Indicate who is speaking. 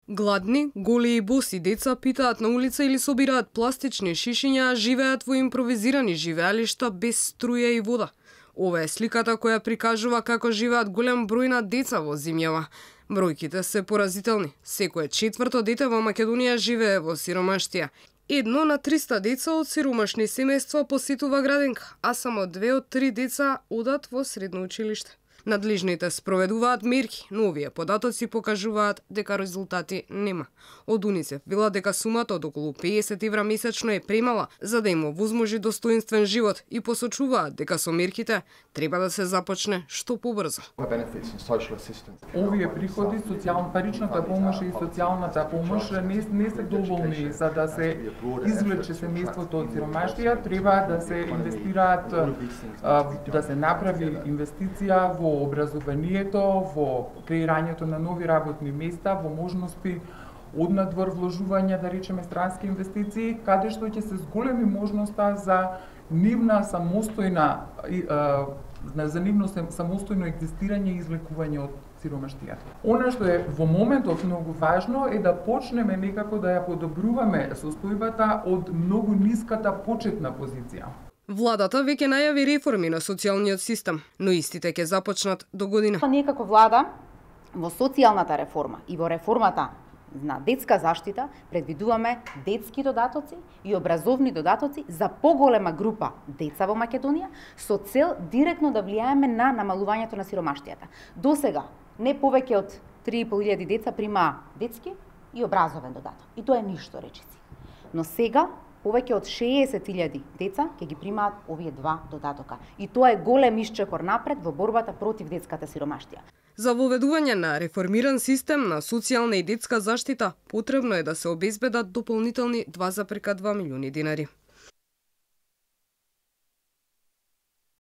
Speaker 1: Гладни, голи и боси деца питаат на улица или собираат пластични шишиња, а живеат во импровизирани живеалишта без струја и вода. Ова е сликата која прикажува како живеат голем број на деца во земјава. Бројките се поразителни. Секое четврто дете во Македонија живее во сиромаштија. 1 на 300 деца од сиромашни семејства посетува градинка, а само 2 од 3 деца одат во средно училиште. Надлежните спроведуваат мерки, но овие податоци покажуваат дека резултати нема. Од УНИЦЕФ велат дека сумата од околу 50 евра месечно е премала за да им овозможи достоинствен живот и посочуваат дека со мерките треба да се започне што побрзо.
Speaker 2: Овие приходи, паричната помош и социјалната помош не се доволни за да се извлече семејството од сиромаштија, треба да се инвестираат, да се направи инвестиција во образованието, во креирањето на нови работни места, во можности однадвор вложување, да речеме, странски инвестиции, каде што ќе се зголеми можноста за нивна самостојна самостојно екзистирање и извлекување од сиромаштијата. Она што е во моментов многу важно е да почнеме некако да ја подобруваме состојбата од многу ниската почетна позиција.
Speaker 1: Владата веќе најави реформи на социјалниот систем, но истите ќе започнат до година.
Speaker 3: Ние како влада во социјалната реформа и во реформата на детска заштита предвидуваме детски додатоци и образовни додатоци за поголема група деца во Македонија со цел директно да влијаеме на намалувањето на сиромаштијата. Досега не повеќе од 3.500 деца примаа детски и образовен додаток. И тоа е ништо, речиси. Но сега повеќе од 60.000 деца ќе ги примаат овие два додатока. И тоа е голем исчекор напред во борбата против детската сиромаштија.
Speaker 1: За воведување на реформиран систем на социјална и детска заштита потребно е да се обезбедат дополнителни 2,2 милиони динари.